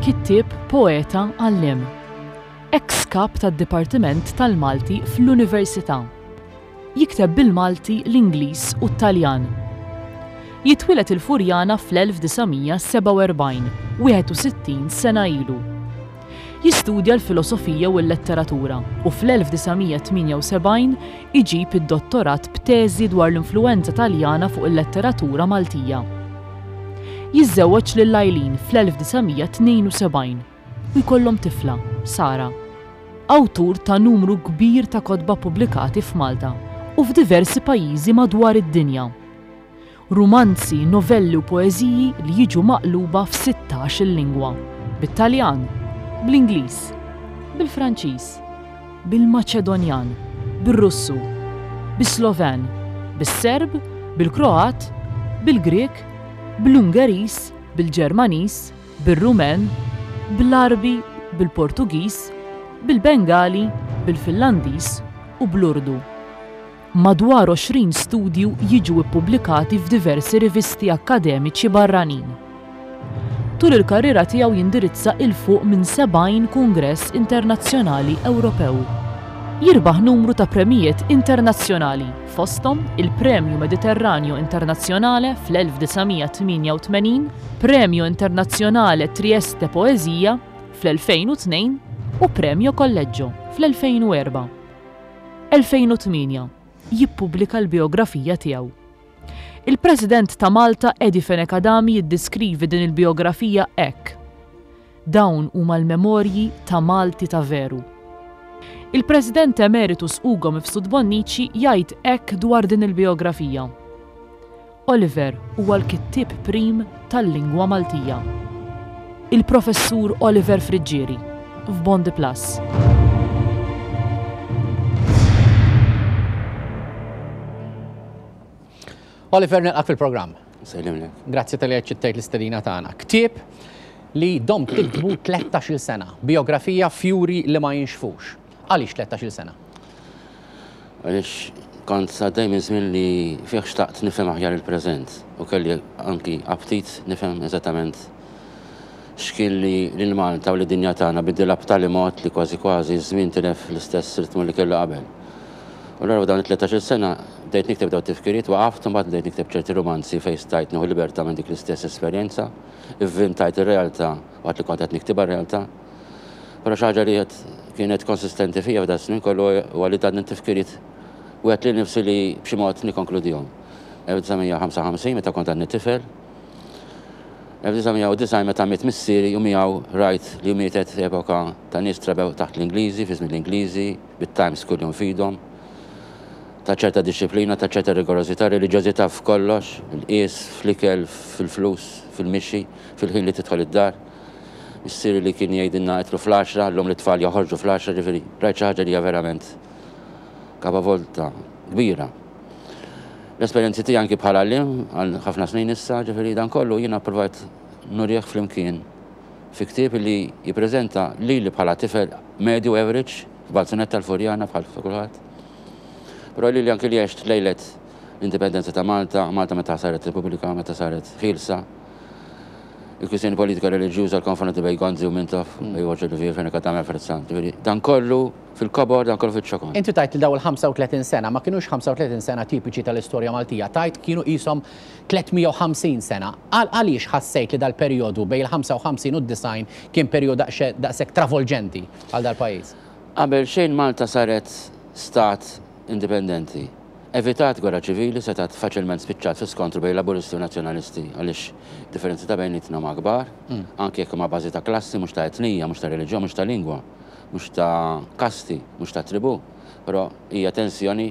Kittieb, poeta, għalliem. Eks kap tad-Dipartiment tal-Malti fl-Università. Jikteb bil-Malti, l-Ingliż u t-Taljan. Jitwieled il-Furjana fl-1947, 61 sena ilu. Jistudja l-filosofija u l-letteratura u fl-1978 iġib id-dottorat b'teżi dwar l-influwenza Taljana fuq il-letteratura Maltija. Jiżżewweġ lil Eileen fl-1972 u jkollhom tifla, Sara. Awtur ta' numru kbir ta' kotba ppubblikati f'Malta u f'diversi pajjiżi madwar id-dinja. Rumanzi, novelli u poeżiji li jiġu maqluba f'sittax-il lingwa, bit-Taljan, bl-Ingliż, bil-Franċiż, bil-Maċedonjan, bir-Russu, bis-Sloven, bis-Serb, bil-Kroat, bil-Grieg, bl-Ungeriż, bil-Ġermaniż, bir-Rumen, bl-Għarbi, bil-Portugiż, bil-Bengali, bil-Finlandiż u bl-Urdu. Madwar 20 studju jiġu ppubblikati f'diversi rivisti akkademiċi barranin. Tul il-karriera tiegħu jindirizza 'il fuq minn 70 kungress internazzjonali Ewropew. Jirbaħ numru ta' premijiet internazzjonali, fosthom il-Premio Mediterraneo Internazionale fl-1988, Premio Internazionale Trieste Poesia fl-2002 u Premio Collegio fl-2004. 2008, jippubblika l-bijografija tiegħu. Il-President ta' Malta Eddie Fenech Adami jiddiskrivi din il-bijografija hekk, Dawn huma l-memorji ta' Malti ta' veru. Il-President Emeritus Ugo Mifsud Bonnici jgħid hekk dwar din il-bijografija, Oliver huwa l-kittieb prim tal-lingwa Maltija. Il-Professur Oliver Friggieri, f'Bondi Plus. Oliver nilqak fil-programm. Sellimlek. Grazzi tal-li aċċettajt l-istedina tagħna. Ktieb li domt tiktbu 13-il sena, biografija fjuri li ma jinxfux. Għaliex 13-il sena? Għaliex kont għaddej minn żmien li fih xtaqt nifhem aħjar il-preżent u kelli anki aptit nifhem eżattament x'kien li lil Malta u lid-dinja tagħna biddilha b'tali mod li kważi kważi ż-żmien tilef l-istess ritmu li kellu qabel. U allura f'dawn it-13-il sena bdejt nikteb dawn it-tifkiriet, waqaft u mbagħad bdejt nikteb ċerti rumanzi fejn stajt nieħu libertà minn dik l-istess esperjenza, ivvintajt ir-realtà waqt li kont qed niktibha r-realtà. Però xi ħaġa li kienet konsistenti fija f'dan is-snin kollu huwa li dan it-tifkiriet wegħedt lil nifsi li b'xi mod nikkonkludihom. 1955 meta kont għadni tifel, 1990 meta miet missieri u miegħu rajt li mietet epoka ta' nies trabew taħt l-Ingliżi, fi żmien l-Ingliżi, bit-Times kuljum f'idhom, ta' ċerta dixxiplina, ta' ċerta rigorożità, reliġjożità f'kollox, il-qies, fl-ikel, fil-flus, fil-mixi, fil-ħin li tidħol id-dar. Missieri li kien jgħidilna idħlu fl-għaxra, llum lit-tfal joħorġu fl-għaxra, ġifieri rajt xi ħaġa li hija verament kapavolta kbira. L-esperjenzi tiegħi anki bħala għalliem għal ħafna snin issa, ġifieri dan kollu jiena ppruvajt nurih flimkien fi ktieb li jippreżenta lili bħala tifel medju average f'Balzunett tal-Furjana bħal kulħadd. Però lili anki li għext lejlet l-indipendenza ta' Malta, Malta meta saret Repubblika, meta saret ħielsa, il-kwistjoni politika reliġjuża, l-konfronti bejn Gonzi u Mintoff, bejn Roger Olivier, Fenech Adami, Alfred Sant. Ġifieri, dan kollu fil-kobor, dan kollu fiċ-ċokon. Inti tgħid li dawn il-35 sena ma kinux 35 sena tipiċi tal-istorja Maltija, tgħid kienu qishom 350 sena. Għaliex ħassejt li dal-perjodu bejn il-55 u d-90 kien perjodu daqshekk travolġenti għal dal-pajjiż? Qabel xejn Malta saret stat indipendenti. Evitat gwerra ċivili setgħet faċilment spiċċat fi skontru bejn Laburisti u Nazzjonalisti għaliex id-differenzi ta' bejnietna huma kbar, anki jekk huma bażi ta' klassi, mhux ta' etnija, mhux ta' reliġjon, mhux ta' lingwa, mhux ta' kasti, mhux ta' tribù, però hija tensjoni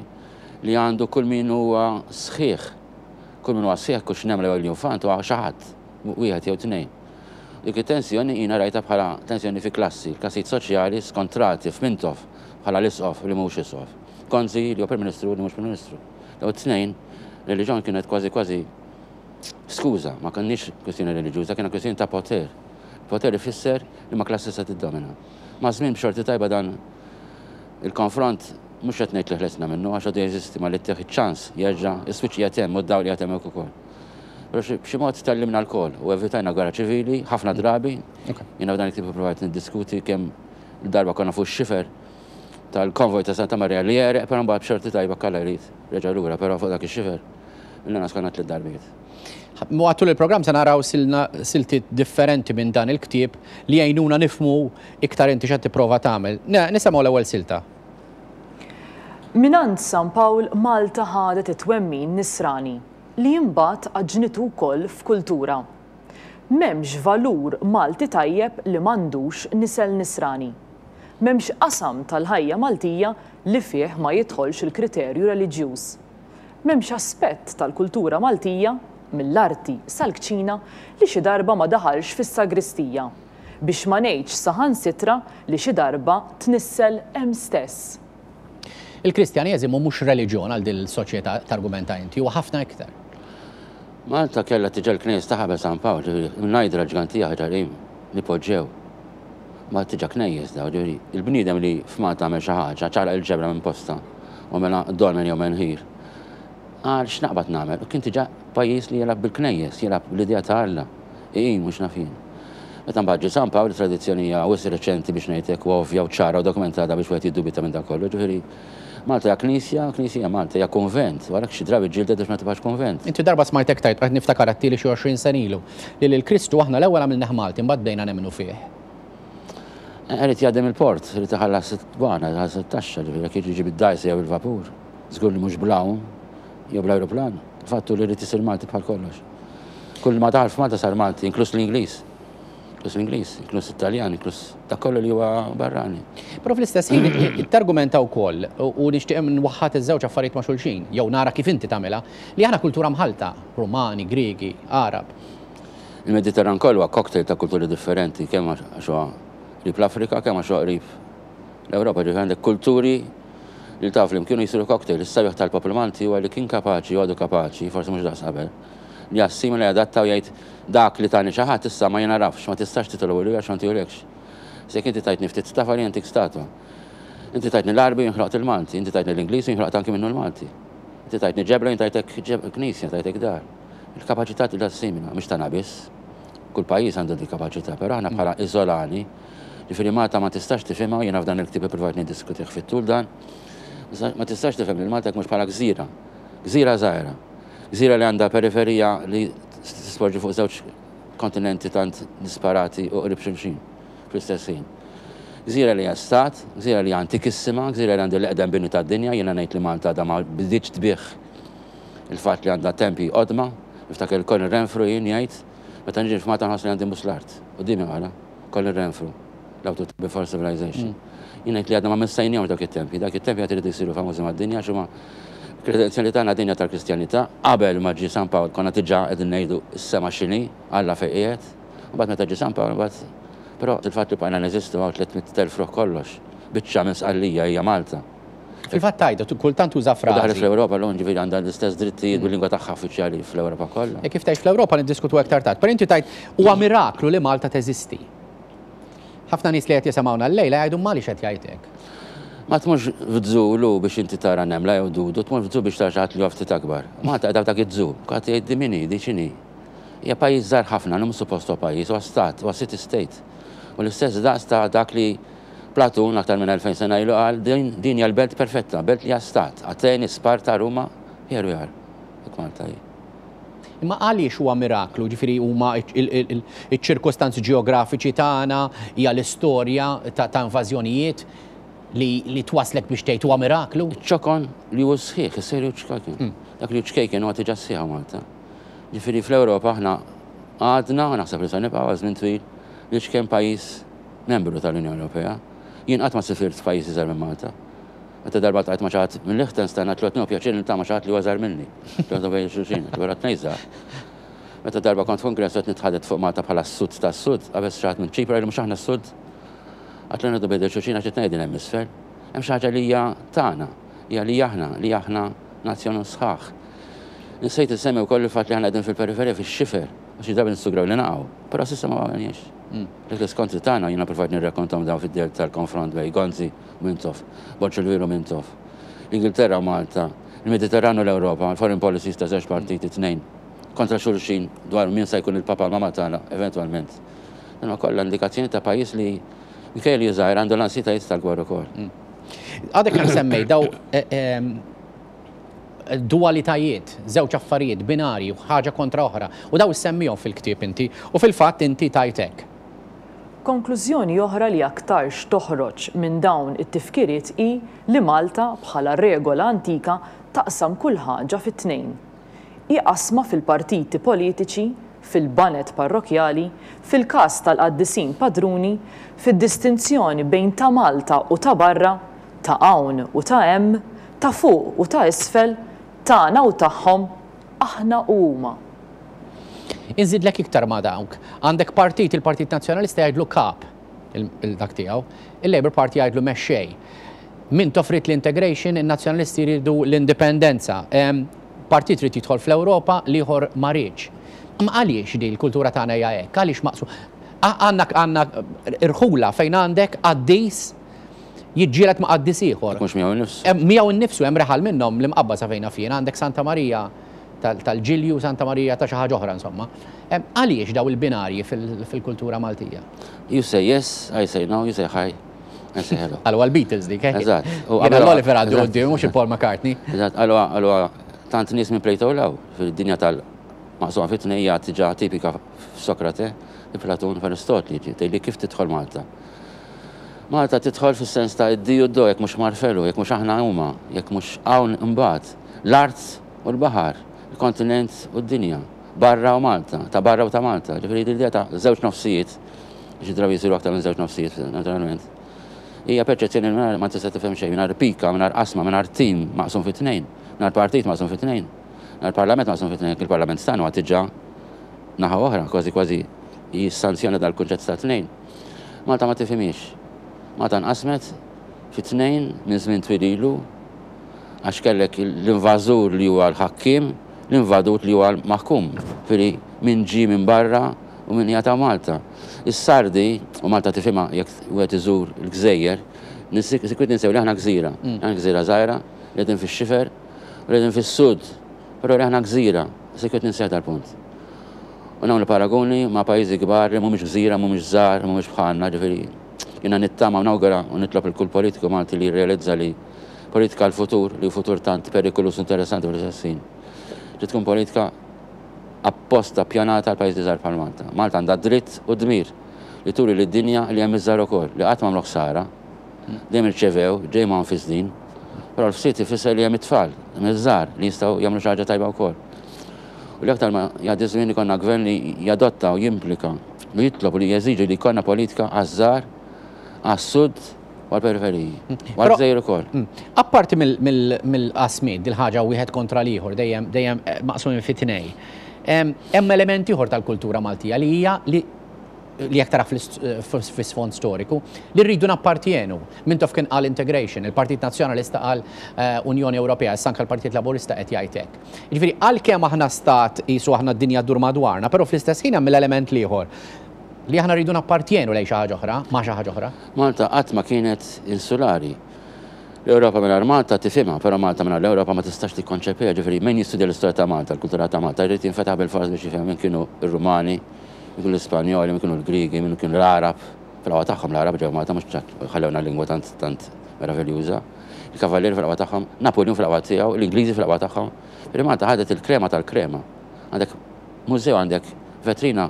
li għandu kull min huwa sħiħ. Kull min huwa sħiħ, kux nemla jew iljunfant, huwa xi ħadd, wieħed jew tnejn. Dik it-tensjoni jiena rajtha bħala tensjoni fi klassi, klassijiet soċjali skontrati f'Mintoff bħala l-isqof li mhux isqof. Gonzi li huwa Prim Ministru li mhux Prim Ministru. Dawn it-tnejn, reliġjon kienet kważi kważi skuża, ma kenniex kwistjoni reliġjuża, kienet kwistjoni ta' poter. Poter ifisser li ma klassi se tiddomina. Maż-żmien b'xorti tajba dan il-konfront mhux qed ngħid li ħlesna minnu għax għadu jeżisti ma li ttih iċ-ċans jerġa' is-switch qiegħed hemm u d-dawl qiegħed hemmhekk ukoll. Però b'xi mod tgħallimna lkoll u evitajna gwerra ċivili ħafna drabi. Jiena f'dan il-ktieb ippruvajt niddiskuti kemm il-darba konna fuq ix-xifer tal-konvoj ta' Santa Marija li għereq, però mbagħad b'xorti tajba Alla jrid reġa' lura, però fuq dak ix-xifer mill-inqas konna tliet darbiet. Matul il-programm se naraw siltiet differenti minn dan il-ktieb li jgħinuna nifhmu iktar inti x'qed tipprova tagħmel. Nisimgħu l-ewwel silta. Mingħand San Pawl Malta ħadet it-twemmin Nisrani, li imbagħad għaġnitu wkoll f'kultura. M'hemmx valur Malti tajjeb li m'għandux nisel Nisrani. M'hemmx qasam tal-ħajja Maltija li fih ma jidħolx il-kriterju reliġjuż. M'hemmx aspett tal-kultura Maltija, mill-arti sal-kċina, li xi darba ma daħalx fis-sagristija. Biex ma ngħidx saħansitra li xi darba tnissel hemm stess. Il-Kristjaneżimu mhux reliġjon għal din il-soċjetà, targumenta inti, huwa ħafna iktar. Malta kellha diġà l-knejjes tagħha qabel San Pawl, ġifieri mnajdra l-ġgantija ħaġar li poġġew. Ma diġà knejjes daw, ġifieri il-bniedem li f'Malta għamel xi ħaġa, ċaqlaq il-ġebla minn postha u għamilha dolmen jew menħir. Qal x'naqbad nagħmel? U kien diġà pajjiż li jilgħab bil-knejjes, jilgħab bl-idea ta' Alla. Iqim mhux naf jien. Meta mbagħad ġie San Pawl, it-tradizzjoni hija wisq reċenti biex ngħid hekk u ovvja u ċara u dokumentata biex wieħed jiddubita minn dan kollu. Ġifieri Malta hija knisja, knisja hija Malta, hija kunvent, u għalhekk xi drabi ġġieldet biex ma tibqax kunvent. Inti darba smajtek tgħid, qed niftakar għedtili xi 20 sena ilu, li lil Kristu aħna l-ewwel għamilnih Malti mbagħad bdejna nemmnu fih. Irid jgħaddi mill-port, irid iħallas id-dwana, iħallas it-taxxa, ġifieri jekk jiġi bid-dgħajsa jew bil-vapur, żgur li mhux bl-għawm jew bl-ajruplan. Il-fatt hu li jrid isir Malti bħal kollox. Kull ma daħal f'Malta sar Malti, inkluż l-Ingliż. Inkluż l-Ingliż, inkluż it-Taljan, inkluż dak kollu li huwa barrani. Però fl-istess ħin targumenta wkoll u nixtieq nwaħħad iż-żewġ affarijiet ma' xulxin, jew nara kif inti tagħmilha, li aħna kultura mħallta, Rumani, Griegi, Għarab. Il-Mediterran kollu huwa cocktail ta' kulturi differenti, kemm għax huwa qrib l-Afrika, kemm għax huwa qrib l-Ewropa, ġifieri għandek kulturi li ltaqgħu flimkien u jsiru cocktail. Is-sabiħ tal-poplu Malti huwa li kien kapaċi u għadu kapaċi, forsi mhux daqs qabel, li jassimila, jadatta u jgħid dak li tani xi ħadd issa ma jingħarafx, ma tistax titolbu lili għax ma ntihulekx. Issa jekk inti tajtni ftit tafal jien ntik statwa. Inti tajtni l-Għarbi u jien ħloqt il-Malti, inti tajtni l-Ingliż u jien ħloqt anki minnu l-Malti. Inti tajtni ġebla u jien tajtek knisja, tajtek dar. Il-kapaċità li tassimila, mhix tagħna biss. Kull pajjiż għandu dik kapaċità, però aħna bħala iżolani, ġifieri Malta ma tistax tifhimha u jiena f'dan il-ktieb ippruvajt niddiskutih fit-tul dan, ma tistax tifhem lil Malta jekk mhux bħala gżira. Gżira żgħira. Gżira li għandha periferija li tisporġi fuq żewġ kontinenti tant disparati u qrib xulxin fl-istess ħin. Gżira li hija stat, gżira li hija antikissima, gżira li għandha l-eqdem bini tad-dinja, jiena ngħid li Malta għadha ma bdietx tbigħ il-fatt li għandha tempji qodma, niftakar il Colin Renfrew jien jgħid, meta niġi f'Malta nħoss li għandi nbus l-art. Quddiemi qalha, Colin Renfrew. L-awtur ta' Before Civilization. Jien ngħid li għadna ma missajnihomx dawk it-tempji. Dawk it-tempji għad iridu jsiru famużi mad-dinja għax huma kredenzjali tagħna dinja tal-Kristjanità. Qabel ma ġie San Pawl konna diġà qegħdin ngħidu s-sema x'inhi, Alla fejn qiegħed. Imbagħad meta ġie San Pawl imbagħad però il-fatt li bqajna neżistu hawn 300,000 ruħ kollox. Biċċa minn Sqallija hija Malta. Fil-fatt tgħidu, kultant tuża frażi. U daħlet fl-Ewropa llum ġifieri għandha l-istess drittijiet bil-lingwa tagħha uffiċjali fl-Ewropa kollha. E kif tgħix fl-Ewropa niddiskutu aktar tard. Però inti tgħid huwa miraklu li Malta teżisti. Ħafna nies li qed jisimgħuna llejla jgħidu ma għaliex qed jgħid hekk. Ma tmurx f'zoo lu biex inti tara nemla jew dudu, tmur f'zoo biex tara xi ħadd li huwa ftit akbar. Malta qiegħda f'dak iż-zoo. Kulħadd jgħid di min hi, di x'inhi. Hija pajjiż żgħir ħafna, li mhux suppost huwa pajjiż, huwa stat, huwa city state. U l-istess daqs ta' dak li Platun aktar minn 2000 sena ilu qal din din hija l-belt perfetta, belt li hija stat. Ateni, Sparta, Ruma, here we are. Hekk Malta hi. Imma għaliex huwa miraklu? Ġifieri huma ċ-ċirkustanzi ġeografiċi tagħna, hija l-istorja ta' invażjonijiet li twasslek biex tgħid huwa miraklu? Iċ-ċokon li hu sħiħ, is-serju ċkejken. Dak li hu ċkejken huwa diġà sħiħ hawn Malta. Ġifieri fl-Ewropa aħna għadna, u naħseb li se nibqgħu għal żmien twil, l-iċken pajjiż membru tal-Unjoni Ewropea. Jien qatt ma sifirt f'pajjiż iżgħar minn Malta. Meta darba ltqajt ma' xi ħadd minn Liechtenstein għedtlu qed nieħu pjaċir niltaqa' ma' xi ħadd li huwa iżgħar minni. Għedtlu bejn xulxin, għedtlu vera tnejn żgħar. Meta darba kont f'kungress u qed nitħadet fuq Malta bħala s-sud tas-sud, qabeż xi ħadd minn Ċipru qalli mhux aħna s-sud? Għedtlu nieħdu bejn xulxin għax it-tnejn qegħdin hemm isfel. Hemm xi ħaġa li hija tagħna, hija li aħna, li aħna nazzjon sħaħ. Insejt insemmi wkoll il-fatt li aħna qegħdin fil-periferija fix-xifer, għax xi drabi nissugraw li naqgħu, però s'issa ma waqgħniex. Dak l-iskontri tagħna jiena ppruvajt nirrakkontahom dawn fid-dell tal-konfront bejn Gonzi Mintoff, Borg il-Veru Mintoff. L-Ingilterra u Malta, il-Mediterran u l-Ewropa, il-foreign policies ta' żewġ partiti, tnejn. kontra xulxin dwar min sa jkun il-Papa l-Mama tagħna eventwalment. Dan huwa kollha indikazzjoni ta' pajjiż li minkejja li żgħir għandu l-ansjetajiet tal-gwerra ukoll. Għadek kemm semmejt daw dualitajiet, żewġ affarijiet, binarji, ħaġa kontra oħra. U daw issemmihom fil-ktieb inti. U fil-fatt inti tgħid hekk. Konklużjoni oħra li aktarx toħroġ minn dawn it-tifkiriet hi li Malta, bħala regola antika, taqsam kull ħaġa fi tnejn. Hi qasma fil-partiti politiċi, fil-baned parrokkjali, fil-każ tal-qaddisin padruni, fid-distinzjoni bejn ta' Malta u ta' barra, ta' hawn u ta' hemm, ta' fuq u ta' isfel, tagħna u tagħhom, aħna u huma. Inżidlek iktar ma' dawk. Għandek partit, il-Partit Nazzjonalista jgħidlu kap, il-dak tiegħu, il-Labour Party jgħidlu mexxej. Mintoff ried l-integration, in-Nazzjonalisti jridu l-indipendenza. Partit ried jidħol fl-Ewropa, l-ieħor ma riedx. Imma għaliex di l-kultura tagħna hija hekk? Għaliex maqsu? Għandna għandna irħula fejn għandek qaddis jiġġieled ma' qaddis ieħor. Mhux miegħu nnifsu. Miegħu nnifsu hemm reħal minnhom l-Imqabba sa fejn naf jien, għandek Santa Marija tal-Ġilju, Santa Marija ta' xi ħaġa oħra insomma. Għaliex daw il-binarji fil-kultura Maltija? You say yes, I say no, you say hi, I say hello. Għalwa l-Beatles dik, eh? Eżatt. Jiena l-Oliver għaddu quddiem mhux il-Paul McCartney. Eżatt, għalwa għalwa tant nies minn Plato law fid-dinja tal-maqsuma fit-tnejn hija diġà tipika f'Sokrate, Platun, f'Aristotli, tgħidli kif tidħol Malta. Malta tidħol fis-sens ta' id-di u d-do, jekk mhux Marfelu, jekk mhux aħna huma, jekk mhux hawn imbagħad. L-art u l-baħar, il-kontinent u d-dinja, barra u Malta, ta' barra u ta' Malta. Ġifieri l-idea ta' żewġ nofsijiet, xi drabi jsiru aktar minn żewġ nofsijiet, naturalment, hija perċezzjoni li ma tista' tifhem xejn mingħajr pika, mingħajr qasma, mingħajr tim maqsum fi tnejn, mingħajr partit maqsum fi tnejn, mingħajr parlament maqsum fi tnejn, jekk il-parlament tagħna huwa diġà naħa oħra, kważi kważi jissanzjona dal-kunċett ta' tnejn. Malta ma tifhimhiex. Malta nqasmet fi tnejn minn żmien twil ilu għax kellek l-invażur li huwa l-ħakkiem, l-invadut li huwa l-maħkum. Ġifieri min ġie minn barra u min qiegħed hawn Malta. Is-Sardi, u Malta tifhimha jekk wieħed iżur il-gżejjer, sikwit ninsew li aħna gżira. Aħna gżira żgħira li qegħdin fix-xifer u li qegħdin fis-sud, però li aħna gżira, sikwit ninsew dal-punt. U nagħmlu paraguni ma' pajjiżi kbar li mhumiex gżira, mhumiex żgħar, mhumiex bħalna, ġifieri jiena nittama u nawgura u nitlob lil kull politiku Malti li jirrealizza li politika għall-futur, li hu futur tant perikoluż u interessanti fl-istess ħin, trid tkun politika apposta ppjanata għal pajjiżi żgħar bħal Malta. Malta għandha dritt u dmir li turi lid-dinja li hemm iż-żgħar ukoll, li qatt m'għamlu ħsara, Dejjem irċevew, ġej magħhom fis-snin. Però l-fsied ifisser li hemm it-tfal, hemm iż-żgħar li jistgħu jagħmlu xi ħaġa tajba wkoll. U li aktar ma jgħaddi ż-żmien ikollna gvern li jadotta u jimplika u jitlob u li jeżiġi li jkollna politika għaż-żgħar, għas-sud u għall-periferiji. U għall-gżejjer ukoll. Apparti mill-qasmiet, dil-ħaġa wieħed kontra l-ieħor, dejjem dejjem maqsumin fi tnej, hemm element ieħor tal-kultura Maltija li hija li li jekk tara fl-isfond storiku, li rridu nappartjenu. Mintoff kien qal integration, il-Partit Nazzjonalista qal eh, Unjoni Ewropea, issa anke l-Partit Laburista qed jgħid hekk. Jiġifieri għalkemm aħna stat qisu aħna d-dinja ddur madwarna, però fl-istess ħin hemm l-element l-ieħor li aħna rridu nappartjenu lejn xi ħaġa oħra, ma' xi ħaġa oħra. Malta qatt ma kienet insulari. L-Ewropa mingħajr Malta tifhimha, però Malta mingħajr l-Ewropa ma tistax tikkonċepiha, ġifieri min jistudja l-istorja ta' Malta, l-kultura ta' Malta, jrid jinfetaħ bil-fors biex jifhem min kienu r-Rumani, Min kienu l-Ispanjoli, min kienu l-Griegi, min kienu l-Għarab. Fil-qawwa tagħhom l-Għarab ġew Malta mhux ħallewna lingwa tant tant meraviljuża. Il-Kavallieri fil-qawwa tagħhom, Napuljun fil-qawwa tiegħu, l-Ingliżi fil-qawwa tagħhom. Ġifieri Malta ħadet il-krema tal-krema. Għandek mużew, għandek vetrina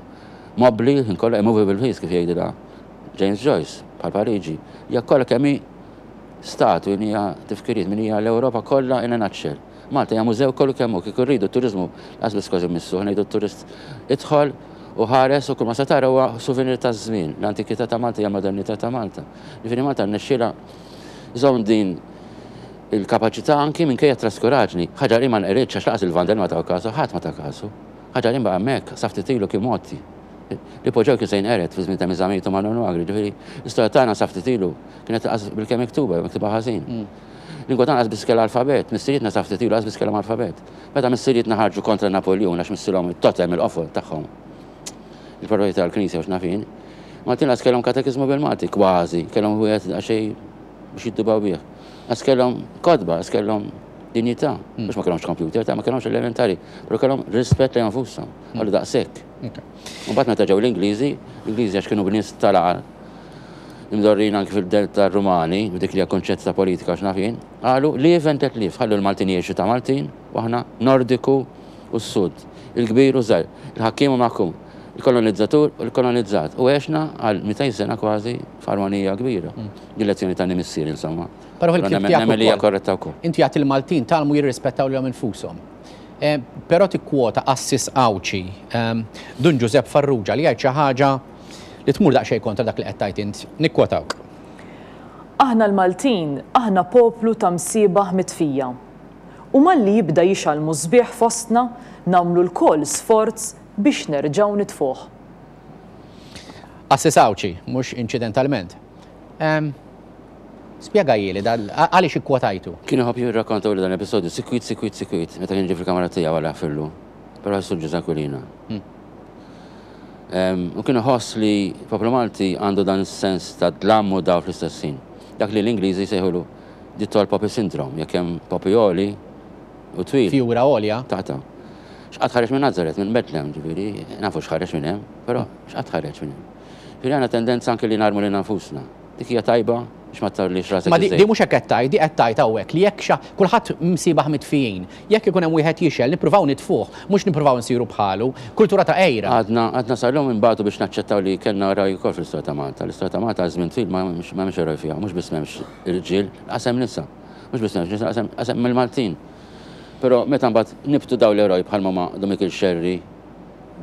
mobbli l-ħin kollu, a movable feast kif jgħidilha James Joyce, bħal Pariġi. Hija kollha kemm hi statwi, hija tifkiriet, min hija l-Ewropa kollha in a nutshell. Malta hija mużew kollu kemm hu, kieku rridu t-turiżmu lanqas biss kważi mmissuh, ngħidu t-turist idħol u ħares u kull ma se tara huwa souvenir taż-żmien. L-antikità ta' Malta hija l-modernità ta' Malta. Jiġifieri Malta rnexxielha żomm din il-kapaċità anki minkejja t-traskuraġni. Ħaġar Qim ma nqeridx għax lanqas il-Vandali ma taw kasu, ħadd ma ta kasu. Ħaġar Qim baqa' hemmhekk sa ftit ilu kien mgħotti. L-ipoġew kien se jinqered fi żmien ta' Miżamit u Manuel Magri, ġifieri l-istorja tagħna sa ftit ilu kienet lanqas bilkemm miktuba jew miktuba ħażin. Lingwa tagħna lanqas biss kellha alfabet, missirietna sa ftit ilu lanqas biss kellhom alfabet. Meta missirietna ħarġu kontra Napuljun għax missilhom it-totem, il-qofol tagħhom, il-proprjetà tal-Knisja u x'naf jien, Maltin lanqas kellhom katekiżmu bil-Malti, kważi, kellhom wieħed daqsxejn biex jiddubaw bih. Lanqas kellhom kotba, lanqas kellhom. Dinjità. Mhux ma kellhomx computer, ta' ma kellhomx elementari, però kellhom rispett lejn nfushom. Għallu daqshekk. U mbagħad meta ġew l-Ingliżi, l-Ingliżi għax kienu bnies tal-għar, imdorrin anki fil-delta Rumani, b'dik li hija kunċett ta' politika x'naf jien, qalu live and let live, ħallu l-Maltin jgħixu ta' Maltin u aħna Nordiku u s-Sud, il-kbir u żgħir, il-ħakkiem u maħkum, il-kolonizzatur u l-kolonizzat. U għexna għal 200 sena kważi f'armonija kbira. Din lezzjoni tani missieri insomma. Però fil-ktieb tiegħek Nemmen li hija korretta wkoll. Inti għedt il-Maltin tgħallmu jirrispettaw lilhom infushom. Però tikkwota qassis Għawdxi, Dun Ġużepp Farrugia, li jgħid xi ħaġa li tmur daqsxejn kontra dak li qed tgħid int. Nikkwotawk. Aħna l-Maltin, aħna poplu ta' msiebaħ mitfija. U malli jibda jixgħal musbieħ fostna, nagħmlu lkoll sforz biex nerġgħu nitfuh. Qassis Għawdxi, mhux inċidentalment. Spjegahieli dan, għaliex ikkwotajtu? Kien iħobb jirrakkontahuli dan l-episodju sikwit, sikwit, sikwit, meta kien jiġi fil-kamra tiegħu għal jaħfirlu. Però ħassu Ġużè Aquilina. U kien iħoss li l-poplu Malti għandu dan is-sens ta' dlam u dawl fl-istess ħin. Dak li l-Ingliżi jsejħulu the tall poppy syndrome, jekk hemm poppy għoli u twil. Fjura għolja. Taqta'. X'qatt ħareġ minn Nazaret, minn Bethlehem, ġifieri, nafu x'ħareġ minn hemm, però x'qatt ħareġ minn hemm. Ġifieri għandna tendenza anke li narmu lilna nfusna. Dik hija tajba biex ma tgħollix rasek Ma di mhux hekk qed tgħid, di qed tgħid hawnhekk li jekk xa kulħadd msiebaħ mitfijin, jekk ikun hemm wieħed jixgħel nippruvaw nitfuh, mhux nippruvaw insiru bħalu. Kultura ta' għira. Għadna għadna sal-lum inbatu biex naċċettaw li kellna eroj ukoll fl-istorja ta' Malta. L-istorja ta' Malta għal żmien twil ma hemmx eroj fiha, mhux biss m'hemmx irġiel, lanqas hemm nisa. Mhux biss m'hemmx nisa, lanqas hemm il-Maltin. Però meta mbagħad nibtu dawn l-eroj bħalma huma Dun Mikiel Xerri,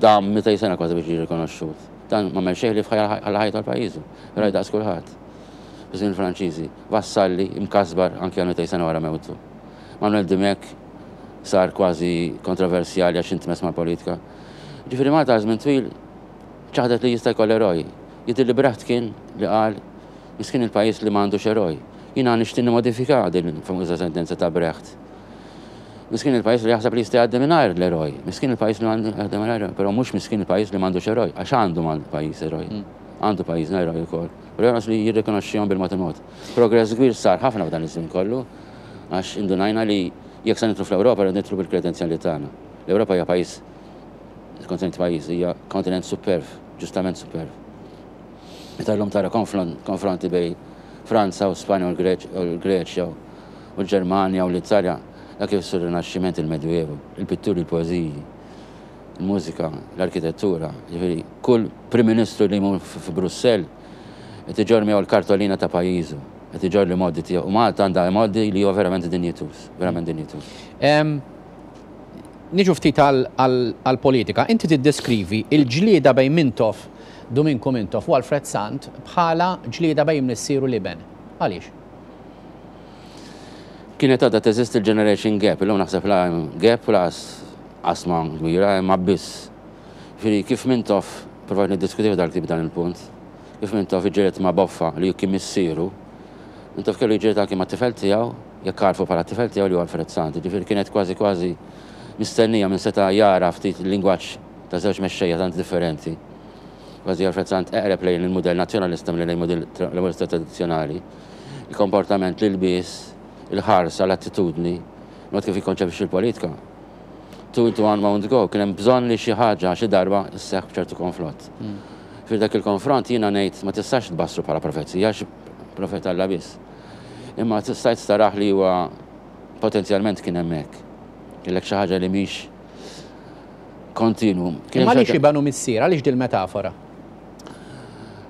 dam 200 sena kważi biex ġie rikonoxxut. Dan m'għamel xejn ħlief ħalla ħajtu għal pajjiżu. Raj daqs kulħadd. Fi żmien il-Franċiżi. Vassalli, imkasbar anki għal 200 sena wara mewtu. Manuel Dimech sar kważi kontroversjali għax intmess mal-politika. Ġifieri Malta għal żmien twil ċaħdet li jista' jkollha eroj. Jidhirli Brecht kien li qal miskin il-pajjiż li ma għandux eroj. Jiena nixtieq nimmodifika din il-famuża sentenza ta' Brecht. Miskin il-pajjiż li jaħseb li jista' jgħaddi mingħajr l-eroj. Miskin il-pajjiż li jgħaddi mingħajr eroj, però mhux miskin il-pajjiż li m'għandux eroj, għax għandu mal-pajjiż eroj. Għandu pajjiżna eroj ukoll. Però jonqos li jirrikonoxxihom bil-mod il-mod. Progress kbir sar ħafna f'dan iż-żmien kollu, għax indunajna li jekk se nidħlu fl-Ewropa rridu nidħlu bil-kredenzjali tagħna. L-Ewropa hija pajjiż, kontinent pajjiż, hija kontinent superv, ġustament superv. Meta llum tara konfronti bejn Franza u Spanja u l-Greċja u l-Ġermanja u l-Italja, dak ifissru r-Rinaxximent, il-Medjuevu, il-pitturi, il-poeżiji, il-mużika, l-arkitettura. Jiġifieri kull Prim Ministru li jmur fi Brussell qed iġorr miegħu l-kartolina ta' pajjiżu, qed iġorr l-imgħoddi tiegħu. U Malta għandha imgħoddi li huwa verament dinjituż, verament dinjituż. Niġu ftit għall-politika. Inti tiddeskrivi l-ġlieda bejn Mintoff, Duminku Mintoff u Alfred Sant bħala ġlieda bejn missier u l-iben. Għaliex? Kienet għadha teżisti l-generation gap, illum naħseb la hemm gap u lanqas qasma kbira, hemm abbiss. Jiġifieri kif Mintoff, provajt niddiskutih f'dal-ktieb dan il-punt, kif Mintoff iġġieled ma' Boffa li kien missieru, Mintoff kellu jiġġieled anki mat-tifel tiegħu, jekk għarfu bħala t-tifel tiegħu li huwa Alfred Sant. Jiġifieri kienet kważi kważi mistennija minn seta' jara ftit il-lingwaġġ ta' żewġ mexxejja tant differenti. Kważi Alfred Sant eqreb lejn il-mudell nazzjonalista milli lejn mudell laburista tradizzjonali. Il-komportament, l-ilbies, il-ħarsa, l-attitudni, il-mod kif jikkonċepixxi l-politika. Two into one won't go, kien hemm bżonn li xi ħaġa xi darba sseħħ b'ċertu konfront. Ġifieri dak il-konfront jiena ngħid ma tistax tbassru bħala profezija għax profeta Alla biss. Imma stajt tarah li huwa potenzjalment kien hemmhekk. Kellek xi ħaġa li mhix kontinwu. Kien hemm Imma għaliex iben u missier? Għaliex dil-metafora?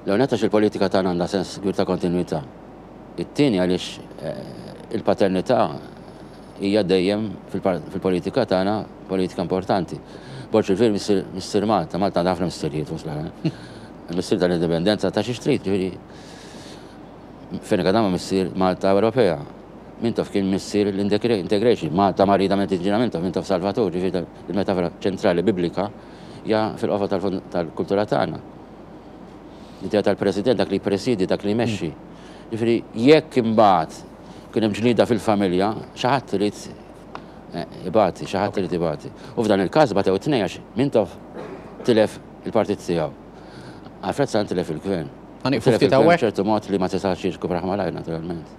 L-ewwel nett għax il-politika tagħna għandha sens kbir ta' kontinwità. It-tieni għaliex il-paternità hija dejjem fil-politika tagħna politika importanti. Borg il-Vir missier Malta, Malta għandha ħafna missirijiet fost l-oħrajn. Missier tal-indipendenza ta' xi trid, ġifieri Fenech Adama missier Malta Ewropea. Mintoff kien missier l-integration, Malta marida minn tiġina Mintoff, Mintoff Salvatur, ġifieri il-metafora ċentrali biblika hija fil-qofa tal-kultura tagħna. L-idea tal-president, dak li jippresidi, dak li jmexxi. Ġifieri jekk imbagħad kien hemm ġlieda fil-familja, xi ħadd irid eh, ibati, xi ħadd irid ibati. U f'dan il-każ batew it-tnejn għax Mintoff tilef il-partit tiegħu. Alfred Sant tilef il-gvern. Ħa nieqfu ftit hawnhekk. ċertu mod li ma tistax jirkupraħ malajr naturalment.